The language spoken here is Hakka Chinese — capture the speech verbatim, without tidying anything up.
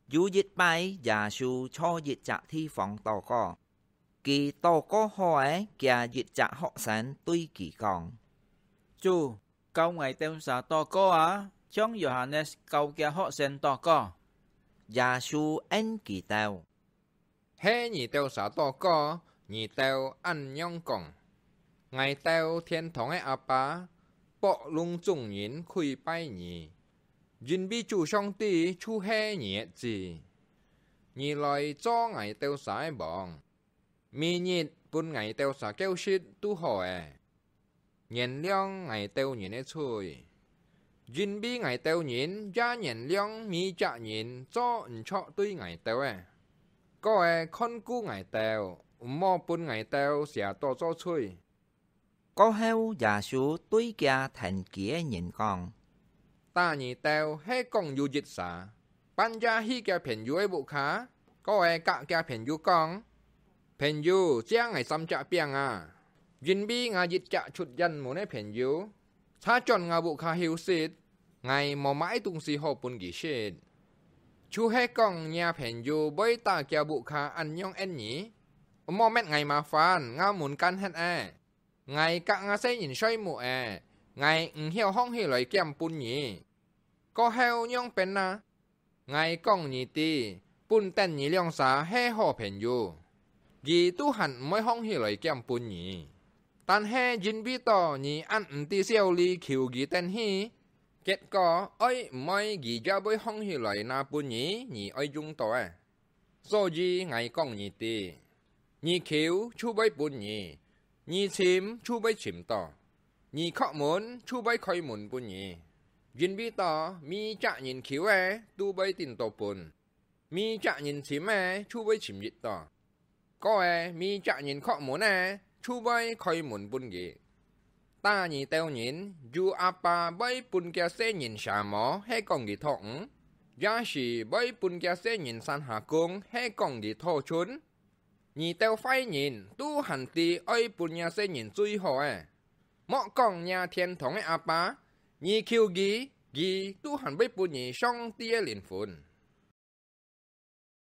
有一擺，耶穌在一隻地方禱告。佢禱告好咧，佢一隻學生對佢講：「主，教𠊎兜儕禱告啊，像約翰教厥學生禱告。」耶穌應佢兜：「係你兜儕禱告，你兜恁樣講：𠊎兜天堂个阿爸，博攏總人跪拜你，因為主上帝就係你个子。你來做𠊎兜儕个王，每日分𠊎兜儕夠食就好咧。原諒𠊎兜人个罪，因為𠊎兜人也原諒每隻人做毋著對𠊎兜个。過咧看顧𠊎兜，毋好分𠊎兜惹到做罪。」過後，耶穌對厥跈佢个人講：「打你兜係講有一儕，半夜去厥朋友个屋下，過咧佮厥朋友講： 朋友，借𠊎三隻餅啊，因為吾一隻出遠門个朋友，差轉吾屋下休息，𠊎無麼个東西好分佢食。」就係講若朋友會打厥屋下恁樣應你，毋好搣𠊎麻煩，吾門關忒咧。 𠊎佮吾細人睡目咧，𠊎毋曉䟘起來撿分你。過後仰般啊？𠊎講你知，本等你兩儕係好朋友，佢都還毋會䟘起來撿分你。但係因為到你恁毋知少禮求佢等去，結果愛毋愛佢也會䟘起來拿分你，你愛用到个。 所以𠊎講你知，你求就會分你，你尋就會尋到，你叩門就會開門分你。因為到每隻人求个都會得到分，每隻人尋个就會尋得到，過咧每隻人叩門个就會開門分佢。 打你兜人，有阿爸會分厥細人舌無，係講佢討魚？也係會分厥細人山下公，係講佢討鱘？你兜壞人，都還知愛分若細人最好个。莫講若天堂个阿爸，你求佢，佢都還會分你上帝个靈魂。